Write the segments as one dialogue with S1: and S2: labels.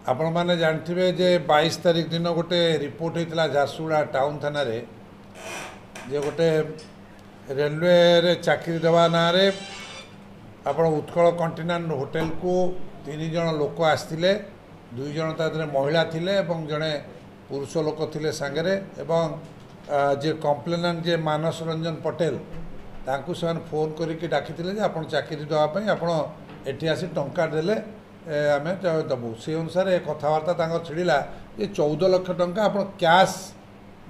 S1: ଆପଣମାନେ ଜାଣିଥିବେ ଯେ 22 ତାରିଖ ଦିନ ଗୋଟେ ରିପୋର୍ଟ ହେଇଥିଲା ଝାରସୁଗୁଡ଼ା ଟାଉନ୍ ଥାନାରେ ଯେ ଗୋଟେ ରେଲୱେରେ ଚାକିରି ଦେବା ନାଁରେ ଆପଣ ଉତ୍କଳ କଣ୍ଟିନେଣ୍ଟ ହୋଟେଲକୁ 3 ଜଣ ଲୋକ ଆସିଥିଲେ। 2 ଜଣ ତା ଦେହରେ ମହିଳା ଥିଲେ ଏବଂ ଜଣେ ପୁରୁଷ ଲୋକ ଥିଲେ ସାଙ୍ଗରେ, ଏବଂ ଯିଏ କମ୍ପ୍ଲେନାଣ୍ଟ ଯିଏ ମାନସ ରଞ୍ଜନ ପଟେଲ, ତାଙ୍କୁ ସେମାନେ ଫୋନ୍ କରିକି ଡାକିଥିଲେ ଯେ ଆପଣ ଚାକିରି ଦେବା ପାଇଁ ଆପଣ ଏଠି ଆସି ଟଙ୍କା ଦେଲେ ଆମେ ଦେବୁ। ସେଇ ଅନୁସାରେ କଥାବାର୍ତ୍ତା ତାଙ୍କର ଛିଡ଼ିଲା ଯେ 14 ଲକ୍ଷ ଟଙ୍କା ଆପଣ କ୍ୟାସ୍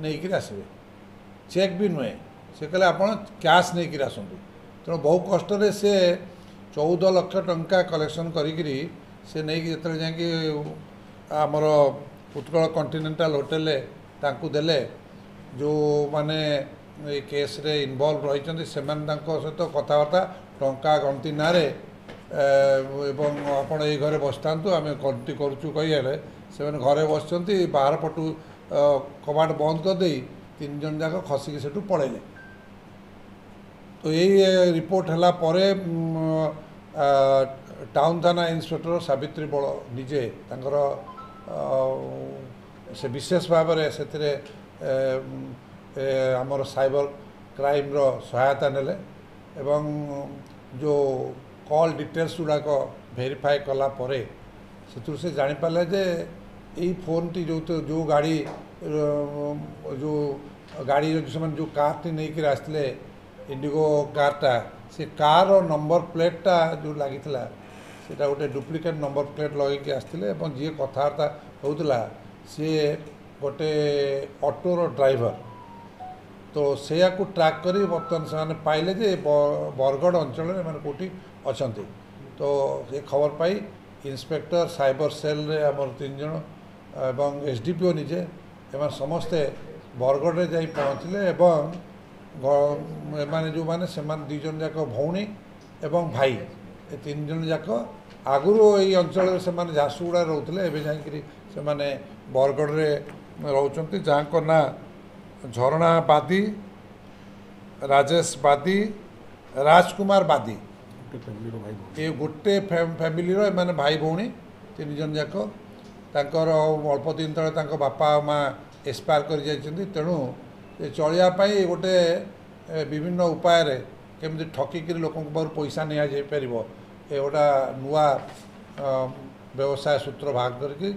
S1: ନେଇକିରି ଆସିବେ, ଚେକ୍ ବି ନୁହେଁ। ସେ କହିଲେ ଆପଣ କ୍ୟାସ୍ ନେଇକିରି ଆସନ୍ତୁ। ତେଣୁ ବହୁ କଷ୍ଟରେ ସେ 14 ଲକ୍ଷ ଟଙ୍କା କଲେକ୍ସନ୍ କରିକିରି ସେ ନେଇକି ଯେତେବେଳେ ଯାଇକି ଆମର ଉତ୍କଳ କଣ୍ଟିନେଣ୍ଟାଲ ହୋଟେଲରେ ତାଙ୍କୁ ଦେଲେ, ଯେଉଁମାନେ ଏ କେସ୍ରେ ଇନଭଲ୍ଭ ରହିଛନ୍ତି ସେମାନେ ତାଙ୍କ ସହିତ କଥାବାର୍ତ୍ତା ଟଙ୍କା ଗଣତି ନାଁରେ ଏବଂ ଆପଣ ଏଇ ଘରେ ବସିଥାନ୍ତୁ ଆମେ ଗଣତି କରୁଛୁ କହିଲେ ସେମାନେ ଘରେ ବସିଛନ୍ତି, ବାହାର ପଟୁ କବାଟ ବନ୍ଦ କରିଦେଇ 3 ଜଣ ଯାକ ଖସିକି ସେଠୁ ପଳେଇଲେ। ତ ଏଇ ରିପୋର୍ଟ ହେଲା ପରେ ଟାଉନ୍ ଥାନା ଇନ୍ସପେକ୍ଟର ସାବିତ୍ରୀ ବଳ ନିଜେ ତାଙ୍କର ସେ ବିଶେଷ ଭାବରେ ସେଥିରେ ଆମର ସାଇବର କ୍ରାଇମ୍ର ସହାୟତା ନେଲେ ଏବଂ ଯେଉଁ କଲ୍ ଡିଟେଲ୍ସ ଗୁଡ଼ାକ ଭେରିଫାଏ କଲା ପରେ ସେଥିରୁ ସେ ଜାଣିପାରିଲେ ଯେ ଏଇ ଫୋନ୍ଟି ଯେଉଁ ଗାଡ଼ି ଯେଉଁ ଗାଡ଼ି ସେମାନେ ଯେଉଁ କାର୍ଟି ନେଇକରି ଆସିଥିଲେ ଇଣ୍ଡିଗୋ କାର୍ଟା, ସେ କାର୍ର ନମ୍ବର ପ୍ଲେଟ୍ଟା ଯେଉଁ ଲାଗିଥିଲା ସେଇଟା ଗୋଟେ ଡୁପ୍ଲିକେଟ୍ ନମ୍ବର ପ୍ଲେଟ୍ ଲଗେଇକି ଆସିଥିଲେ ଏବଂ ଯିଏ କଥାବାର୍ତ୍ତା ହେଉଥିଲା ସିଏ ଗୋଟେ ଅଟୋର ଡ୍ରାଇଭର। ତ ସେଇଆକୁ ଟ୍ରାକ୍ କରି ବର୍ତ୍ତମାନ ସେମାନେ ପାଇଲେ ଯେ ବରଗଡ଼ ଅଞ୍ଚଳରେ ଏମାନେ କେଉଁଠି ଅଛନ୍ତି। ତ ଏ ଖବର ପାଇ ଇନ୍ସପେକ୍ଟର ସାଇବର ସେଲ୍ରେ ଆମର 3 ଜଣ ଏବଂ ଏସ୍ ଡି ପି ଓ ନିଜେ ଏମାନେ ସମସ୍ତେ ବରଗଡ଼ରେ ଯାଇ ପହଞ୍ଚିଲେ ଏବଂ ଏମାନେ ଯେଉଁମାନେ ସେମାନେ 2 ଜଣ ଯାକ ଭଉଣୀ ଏବଂ ଭାଇ, ଏ 3 ଜଣ ଯାକ ଆଗରୁ ଏଇ ଅଞ୍ଚଳରେ ସେମାନେ ଝାରସୁଗୁଡ଼ାରେ ରହୁଥିଲେ, ଏବେ ଯାଇକରି ସେମାନେ ବରଗଡ଼ରେ ରହୁଛନ୍ତି। ଯାହାଙ୍କ ନାଁ ଝରଣା ବାଦୀ, ରାଜେଶ ବାଦୀ, ରାଜକୁମାର ବାଦୀ। ଏ ଗୋଟେ ଫ୍ୟାମିଲିର ଏମାନେ ଭାଇ ଭଉଣୀ 3 ଜଣ ଯାକ। ତାଙ୍କର ଅଳ୍ପ ଦିନ ତଳେ ତାଙ୍କ ବାପା ମା ଏକ୍ସପାୟାର କରିଯାଇଛନ୍ତି। ତେଣୁ ଏ ଚଳିବା ପାଇଁ ଗୋଟେ ବିଭିନ୍ନ ଉପାୟରେ କେମିତି ଠକିକିରି ଲୋକଙ୍କ ପାଖରୁ ପଇସା ନିଆଯାଇପାରିବ, ଏ ଗୋଟା ନୂଆ ବ୍ୟବସାୟ ସୂତ୍ର ବାହାର କରିକି